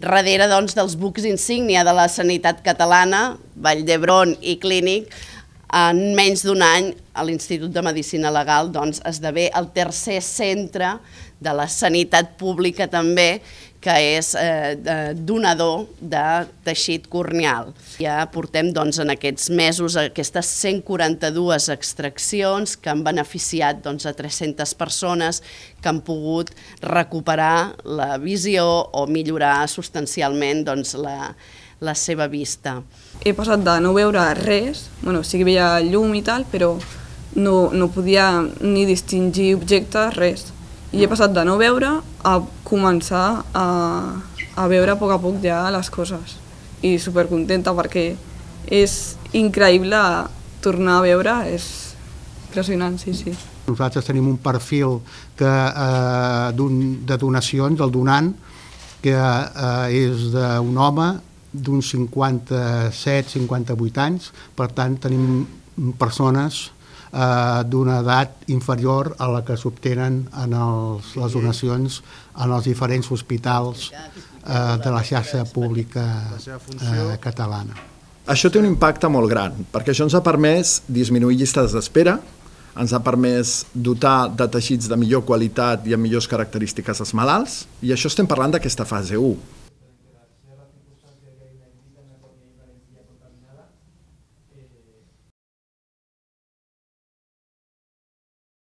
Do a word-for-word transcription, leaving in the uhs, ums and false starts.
Darrere doncs, dels bucs insígnia de la sanitat catalana, Vall d'Hebron i Clínic, en menys d'un any l'Institut de Medicina Legal doncs, esdevé el tercer centre de la sanitat pública també, que és eh, donador de teixit corneal. Ja portem doncs, en aquests mesos aquestes cent quaranta-dues extraccions que han beneficiat doncs, a tres-centes persones que han pogut recuperar la visió o millorar substancialment doncs, la, la seva vista. He passat de no veure res, bueno, sí que veia llum i tal, però no, no podia ni distingir objectes, res. I he passat de no veure a començar a, a veure a poc a poc ja les coses. I supercontenta perquè és increïble tornar a veure, és impressionant, sí, sí. Nosaltres tenim un perfil que, eh, de donacions, el donant, que eh, és d'un home d'uns cinquanta-set cinquanta-vuit anys, per tant tenim persones d'una edat inferior a la que s'obtenen en els, les donacions en els diferents hospitals eh, de la xarxa pública eh, catalana. Això té un impacte molt gran, perquè això ens ha permès disminuir llistes d'espera, ens ha permès dotar de teixits de millor qualitat i amb millors característiques als malalts, i això estem parlant d'aquesta fase u.